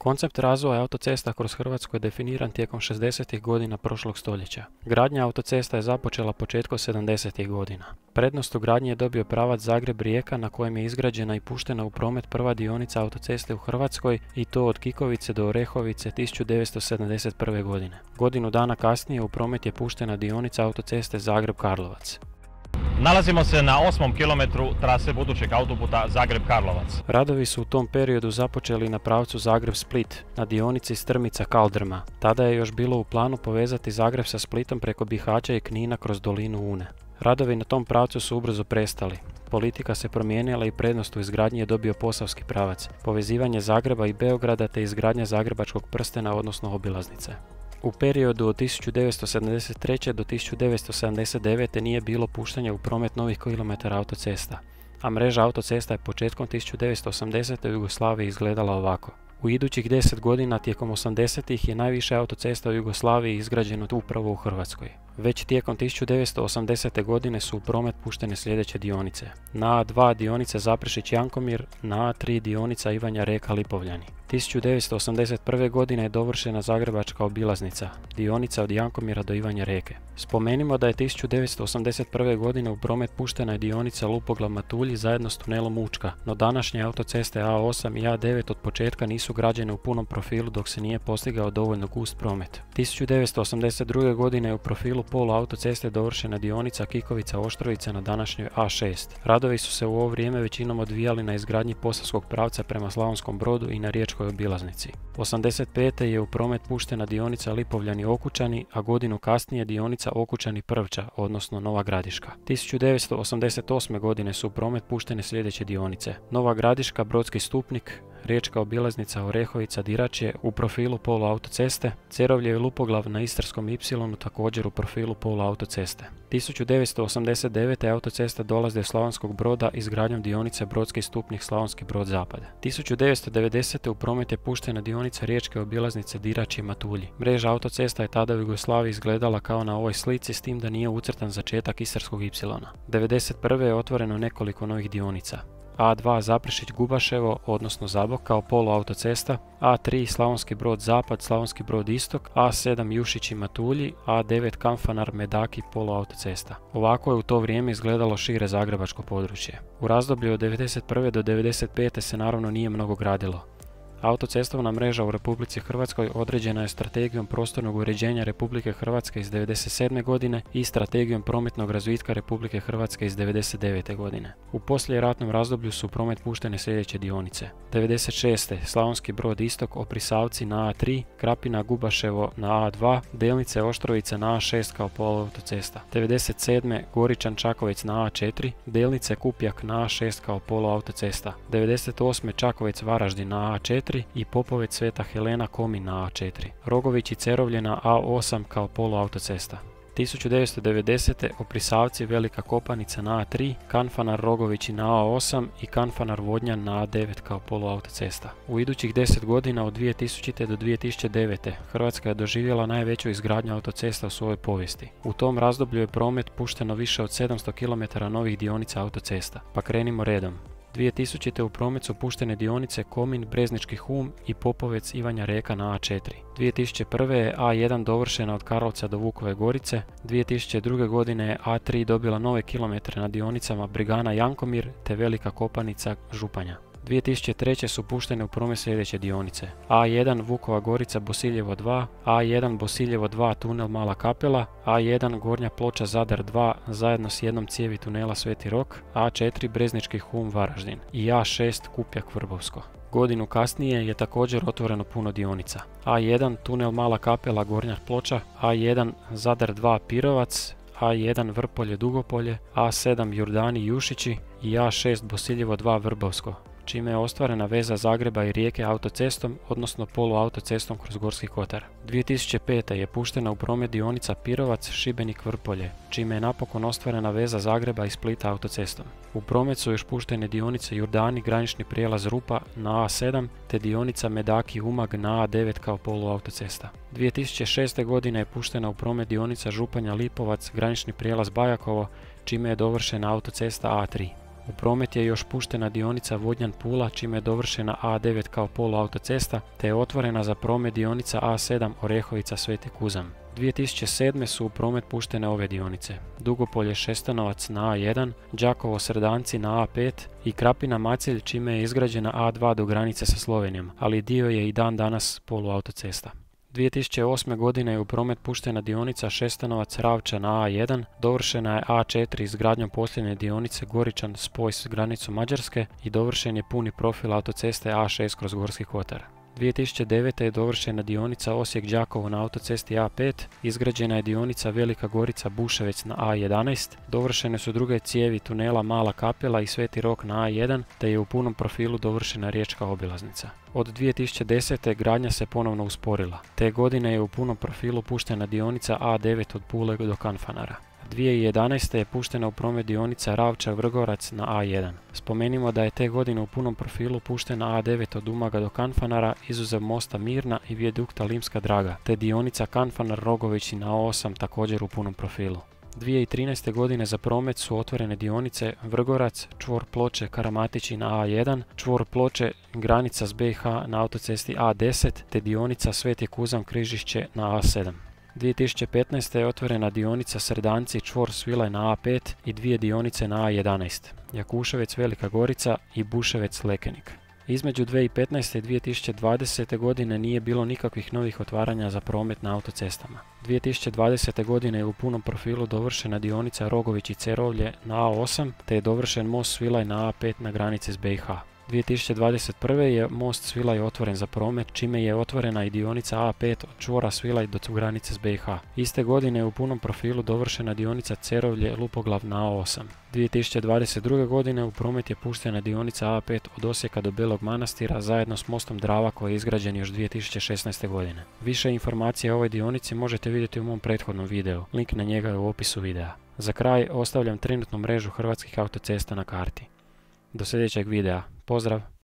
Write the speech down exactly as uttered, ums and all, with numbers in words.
Koncept razvoja autocesta kroz Hrvatsku je definiran tijekom šezdesetih godina prošlog stoljeća. Gradnja autocesta je započela početkom sedamdesetih godina. Prednost u gradnji je dobio pravac Zagreb-Rijeka na kojem je izgrađena i puštena u promet prva dionica autoceste u Hrvatskoj i to od Kikovice do Orehovice tisuću devetsto sedamdeset prve. godine. Godinu dana kasnije u promet je puštena dionica autoceste Zagreb-Karlovac. Nalazimo se na osmom kilometru trase budućeg autoputa Zagreb-Karlovac. Radovi su u tom periodu započeli na pravcu Zagreb-Split, na dionici Strmica-Kaldrma. Tada je još bilo u planu povezati Zagreb sa Splitom preko Bihaća i Knina kroz dolinu Une. Radovi na tom pravcu su ubrzo prestali. Politika se promijenila i prednost u izgradnji je dobio posavski pravac, povezivanje Zagreba i Beograda te izgradnja Zagrebačkog prstena odnosno obilaznice. U periodu od tisuću devetsto sedamdeset treće. do tisuću devetsto sedamdeset devete. nije bilo puštanja u promet novih kilometara autocesta, a mreža autocesta je početkom tisuću devetsto osamdesete. u Jugoslaviji izgledala ovako. U idućih deset godina tijekom osamdesetih je najviše autocesta u Jugoslaviji izgrađeno upravo u Hrvatskoj. Već tijekom tisuću devetsto osamdesete. godine su u promet puštene sljedeće dionice. Na A dva dionica Zaprešić-Jankomir, na A tri dionica Ivanja Reka-Lipovljani. tisuću devetsto osamdeset prve. godine je dovršena Zagrebačka obilaznica, dionica od Jankomira do Ivanja Reke. Spomenimo da je tisuću devetsto osamdeset prve. godine u promet puštena je dionica Lupoglav-Matulji zajedno s tunelom Učka, no današnje autoceste A osam i A devet od početka nisu građene u punom profilu dok se nije postigao dovoljno gust promet. tisuću devetsto osamdeset druge. godine je u profilu polu autoceste dovršena dionica Kikovica-Oštrovica na današnjoj A šest. Radovi su se u ovo vrijeme većinom odvijali na izgradnji posavskog pravca prema Slavonskom Brodu i na riječkoj obilaznici. osamdeset pete. je u promet puštena dionica Lipovljani-Okučani, a godinu kasnije dionica Okučani-Prvča, odnosno Nova Gradiška. tisuću devetsto osamdeset osme. godine su u promet puštene sljedeće dionice: Nova Gradiška, Brodski Stupnik, riječka obilaznica Orehovica-Diračje u profilu polu autoceste, Cerovlje i Lupoglav na Istarskom Y također u profilu polu autoceste. tisuću devetsto osamdeset devete. autocesta dolazi do Slavonskog Broda izgradnjom dionice Brodski Stupnik Slavonski Brod-Zapad. tisuću devetsto devedesete. u promet je puštena dionica riječke obilaznice Diračje-Matulji. Mreža autocesta je tada u Jugoslaviji izgledala kao na ovoj slici s tim da nije ucrtan začetak Istarskog Y. devedeset prve. je otvoreno nekoliko novih dionica: A dva Zaprešić-Gubaševo, odnosno Zabok kao polu autocesta, A tri Slavonski Brod-Zapad, Slavonski Brod-Istok, A sedam Jušići-Matulji, A devet Kanfanar-Medaki polu autocesta. Ovako je u to vrijeme izgledalo šire zagrebačko područje. U razdoblju od devedeset prve. do devedeset pete. se naravno nije mnogo gradilo. Autocestovna mreža u Republici Hrvatskoj određena je Strategijom prostornog uređenja Republike Hrvatske iz devedeset sedme. godine i Strategijom prometnog razvitka Republike Hrvatske iz devedeset devete. godine. U poslijeratnom razdoblju su u promet puštene sljedeće dionice: devedeset šeste. Slavonski Brod-Istok, Oprisavci na A tri, Krapina-Gubaševo na A dva, Delnice Oštrovica na A šest kao poluautocesta. devedeset sedme. Goričan-Čakovec na A četiri, Delnice Kupjak na A šest kao poluautocesta. devedeset osme. Čakovec-Varaždin na A četiri i Popovec Sveta Helena Komin na A četiri. Rogović i Cerovlje na A osam kao poluautocesta. tisuću devetsto devedesete. Oprisavci Velika Kopanica na A tri, Kanfanar Rogovići na A osam i Kanfanar Vodnjan na A devet kao poluautocesta. U idućih deset godina od dvije tisućite. do dvije tisuće devete. Hrvatska je doživjela najveću izgradnju autocesta u svojoj povijesti. U tom razdoblju je promet pušteno više od sedamsto kilometara novih dionica autocesta. Pa krenimo redom. dvije tisućite. u promet su puštene dionice Komin, Breznički Hum i Popovec Ivanja Reka na A četiri. dvije tisuće prve. je A jedan dovršena od Karlovca do Vukove Gorice. dvije tisuće druge. godine je A tri dobila nove kilometre na dionicama Brigana Jankomir te Velika Kopanica Županja. dvije tisuće treće. su puštene u promet sljedeće dionice: A jedan Vukova Gorica Bosiljevo dva, A jedan Bosiljevo dva tunel Mala Kapela, A jedan Gornja Ploča Zadar dva zajedno s jednom cijevi tunela Sveti Rok, A četiri Breznički Hum Varaždin i A šest Kupjak Vrbovsko. Godinu kasnije je također otvoreno puno dionica: A jedan tunel Mala Kapela Gornja Ploča, A jedan Zadar dva Pirovac, A jedan Vrpolje Dugopolje, A sedam Jurdani Jušići i A šest Bosiljevo dva Vrbovsko, čime je ostvarena veza Zagreba i Rijeke autocestom, odnosno poluautocestom kroz Gorski kotar. dvije tisuće pete. je puštena u promet dionica Pirovac, Šibenik, Vrpolje, čime je napokon ostvarena veza Zagreba i Splita autocestom. U promet su još puštene dionice Jurdani, granični prijelaz Rupa na A sedam, te dionica Medaki Umag na A devet kao poluautocesta. dvije tisuće šeste. godine je puštena u promet dionica Županja Lipovac, granični prijelaz Bajakovo, čime je dovršena autocesta A tri. U promet je još puštena dionica Vodnjan-Pula, čime je dovršena A devet kao poluautocesta, te je otvorena za promet dionica A sedam Orehovica-Sveti Kuzam. dvije tisuće sedme su u promet puštene ove dionice: Dugopolje-Šestanovac na A jedan, Đakovo-Sredanci na A pet i Krapina-Macelj, čime je izgrađena A dva do granice sa Slovenijom, ali dio je i dan danas poluautocesta. dvije tisuće osme. godine je u promet puštena dionica Šestanovac-Ravča na A jedan, dovršena je A četiri izgradnjom posljednje dionice Goričan spoj s granicu Mađarske i dovršen je puni profil autoceste A šest kroz Gorski kotar. dvije tisuće devete. je dovršena dionica Osijek-Đakovo na autocesti A pet, izgrađena je dionica Velika Gorica-Buševec na A jedanaest, dovršene su druge cijevi tunela Mala Kapela i Sveti Rok na A jedan, te je u punom profilu dovršena riječka obilaznica. Od dvije tisuće desete. gradnja se ponovno usporila. Te godine je u punom profilu puštena dionica A devet od Pule do Kanfanara. dvije tisuće jedanaeste. je puštena u promet dionica Ravča-Vrgorac na A jedan. Spomenimo da je te godine u punom profilu puštena A devet od Umaga do Kanfanara, izuzev mosta Mirna i vijadukta Limska Draga, te dionica Kanfanar-Rogovići na A osam također u punom profilu. dvije tisuće trinaeste. godine za promet su otvorene dionice Vrgorac, čvor Ploče, Karamatići na A jedan, čvor Ploče, granica s B iH na autocesti A deset, te dionica Sveti Kuzam Križišće na A sedam. dvije tisuće petnaeste. je otvorena dionica Sredanci, čvor Svilaj na A pet i dvije dionice na A jedanaest, Jakuševec Velika Gorica i Buševec Lekenik. Između dvije tisuće petnaeste. i dvije tisuće dvadesete. godine nije bilo nikakvih novih otvaranja za promet na autocestama. dvije tisuće dvadesete. godine je u punom profilu dovršena dionica Rogović i Cerovlje na A osam, te je dovršen most Svilaj na A pet na granici s B iH. dvije tisuće dvadeset prve. je most Svilaj otvoren za promet, čime je otvorena i dionica A pet od čvora Svilaj do granice s B iH. Iste godine je u punom profilu dovršena dionica Cerovlje-Lupoglav na A osam. dvije tisuće dvadeset druge. godine u promet je puštena dionica A pet od Osijeka do Belog Manastira zajedno s mostom Drava koji je izgrađen još dvije tisuće šesnaeste. godine. Više informacija o ovoj dionici možete vidjeti u mom prethodnom videu, link na njega je u opisu videa. Za kraj ostavljam trenutnu mrežu hrvatskih autocesta na karti. Do sljedećeg videa. Pozdrav!